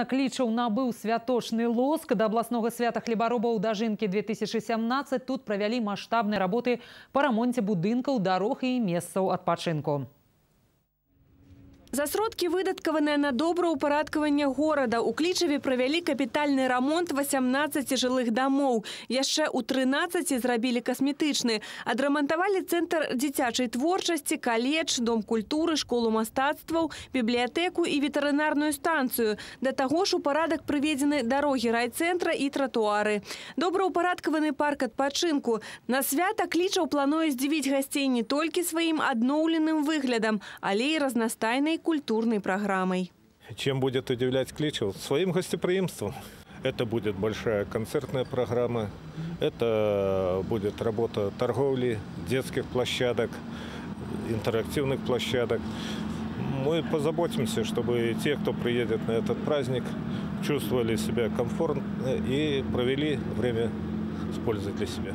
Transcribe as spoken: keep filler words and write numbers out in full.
Клічаў набыў святочны лоск. Да абласнога свята хлебаробаў дажынкі две тысячи сямнадцать тут правялі маштабныя работы па рамонце будынкаў, дарог і месцаў адпачынку. За сродкі, выдаткаваныя на добраўпарадкаванне горада, у Клічаве правялі капітальны рамонт васямнаццаці жылых дамоў. Яшчэ ў трынаццаці зрабілі касметычны. Адрамантавалі цэнтр дзіцячай творчасці, каледж, дом культуры, школу мастацтваў, бібліятэку і ветэрынарную станцыю. Да таго ж у парадак прыведзены дарогі райцэнтра і тратуары. Добраўпарадкаваны парк адпачынку. На свята Клічаў плануе здзівіць гасцей не толькі сваім адноўленым выглядам, але і разнастайнай культурной программой. Чем будет удивлять Кличев? Своим гостеприимством. Это будет большая концертная программа, это будет работа торговли, детских площадок, интерактивных площадок. Мы позаботимся, чтобы те, кто приедет на этот праздник, чувствовали себя комфортно и провели время с пользой для себя.